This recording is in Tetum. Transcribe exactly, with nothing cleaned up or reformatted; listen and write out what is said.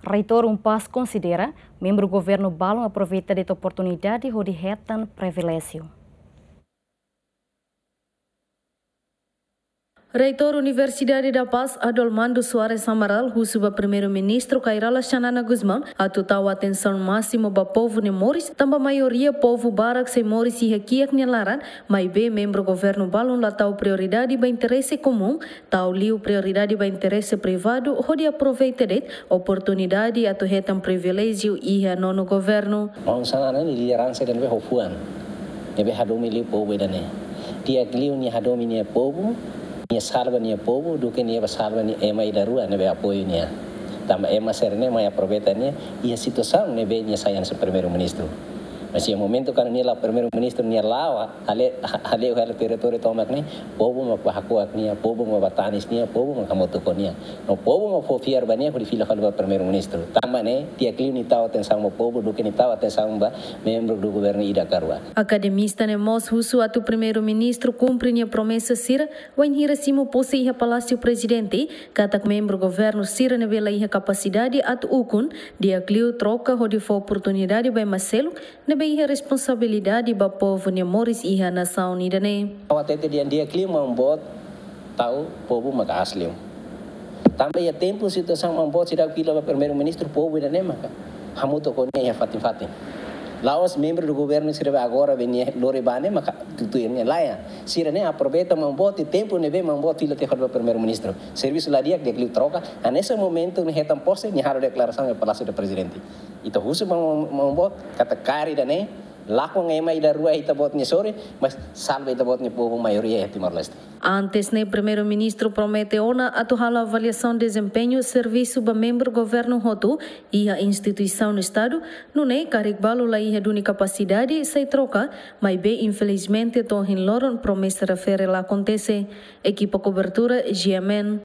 Reitór UNPAZ konsidera membru governu balun aproveita de'it oportunidade hodi hetan priviléjiu. Reitór Universidade da Paz, Adolmando Soares Amaral, husu ba Primeiru-Ministru Kay Rala Xanana Gusmão atu tau atensaun másimu ba povu nia moris, tanba maioria povu barak sei moris iha kiak nia laran, maibé membru governu balun la tau prioridade ba interese komún, tau liu prioridade ba interese privadu, hodi aproveita de'it oportunidade atu hetan priviléjiu iha nonu governu. Maun Xanana ne'e lideransa ida ne'ebé ho fuan, ne'ebé hadomi liu povu ida-ne'e. Di'ak liu nia hadomi nia povu, nia salva nia povu, duké nia bá salva nia ema ida rua ne'ebé apoiu nia. Tanba ema sira-ne'e mai aproveita nia iha situasaun ne'ebé nia sai hanesan Primeiru-Ministru. Mas iha momentu kuandu nia la'o Primeiru-Ministru, nia la'o, hale'u, hale'u, hale'u territóriu tomak ne'e, povu mak bá hako'ak nia, povu mak bá tanis nia, povu mak hamutuk ho nia. No povu mak fó fiar ba nia hodi fila fali ba Primeiru-Ministru. Tanba ne'e, di'ak liu nia tau atensaun ba povu, duké nia tau atensaun ba membru do governu ida ka rua. Akademista ne'e mós husu atu Primeiru-Ministru kumpre nia promesa sira, wainhira simu pose iha Palásiu Prezidente, katak membru governu sira ne'ebé la iha kapasidade atu ukun, di'ak liu troka hodi fó oportunidade ba ema seluk ne'ebé iha responsabilidade ba povu nia moris iha nasaun ida-ne'e. Ha'u hatete dehan di'ak liu maun boot tau povu maka'as liu. Tanba iha tempu situasaun maun boot seidauk fila ba Primeiru-Ministru, povu ida-ne'e maka hamutuk ho nia iha fatin-fatin. La'ós membru do governu sira ne'ebé agora be nia lori bá ne'e maka tutuir nia, lae. Sira-ne'e aproveita maun boot iha tempu ne'ebé maun boot fila tiha fali ba Primeiru-Ministru. Servisu la di'ak, di'ak liu troka. Hanesan momentu nia hetan pose, nia halo deklarasaun iha Palásiu do Prezidente. Ita husu ba maun, maun boot katak kaer ida-ne'e, lakon ema ida rua ita-boot nia sorin, mas salva ita-boot nia povu maioria iha Timor-Leste. Antes ne'e, Primeiru-Ministru promete ona atu halo avaliasaun dezempeñu servisu ba membru governu hotu iha instituisaun Estadu, nune'e karik balu la iha duni kapasidade sei troka, maibé infelizmente to'o ohin loron promesa refere la akontese. Ekipa kobertura, G M N.